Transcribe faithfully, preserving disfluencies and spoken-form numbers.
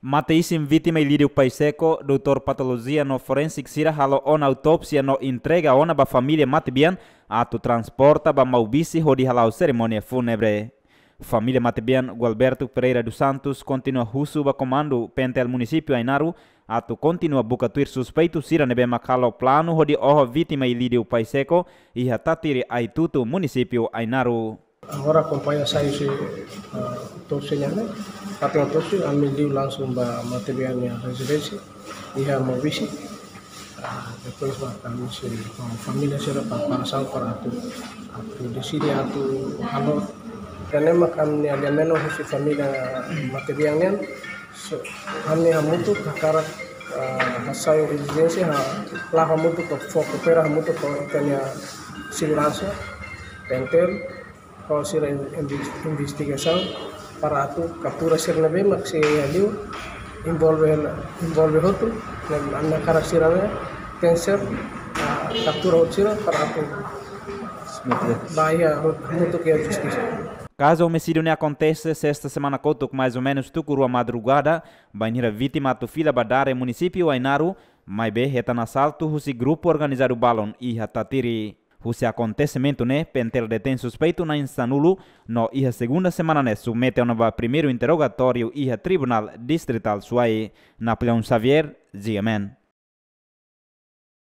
Mate isin vítima Ilídio Paixeco, doutór patolojia no forénsiku sira halo ona autópsia no entrega ona ba família matebian atu transporta ba Maubisse hodi hala'o serimónia fúnebre. Família matebian Gualberto Pereira dos Santos kontinua husu ba komandu PNTL munisípiu Ainaro atu kontinua buka tuir suspeitu sira ne'ebé mak halo planu hodi oho vítima Ilídio Paixeco iha Tatiri Aitutu, munisípiu Ainaro. Agora akompaña sai husi, ah, autópsia nian, fatin autópsia, ami liu langsung ba matebian nia rezidénsia iha Maubisse. Ah, depois ba ami sei, ah, família sira preparasaun para atu, atu deside atu halo. Tanba ami-nia aliamentu husi família matebian nian, so, ami hamutuk hakarak, ah, hasai rezidénsia, ha, la'o hamutuk ka fó koopera hamutuk ho ita-nia seguransa, PNTL, ho sira in-, inves-, investigasaun para atu kaptura sira ne'ebé mak sei iha liu envolve, envolve hotu, ne'e ami hakarak sira-ne'e tenke ser, ah, kaptura hotu sira para atu ba iha hot-, hamutuk iha justisa. Kazu omisídiu ne'e akontese sesta semana kotuk, mais ou menus tuku rua madrugada, bainhira vítima atu fila ba Dare, munisípiu Ainaro, maibé hetan asaltu husi grupu organizadu balun iha Tatiri. Husi akontesimentu ne'e, PNTL detein suspeitu na'in sanulu no iha segunda semana ne'e submete ona ba primeiru interrogatóriu iha Tribunál Distritál Suai. Napoleão Xavier, GMN.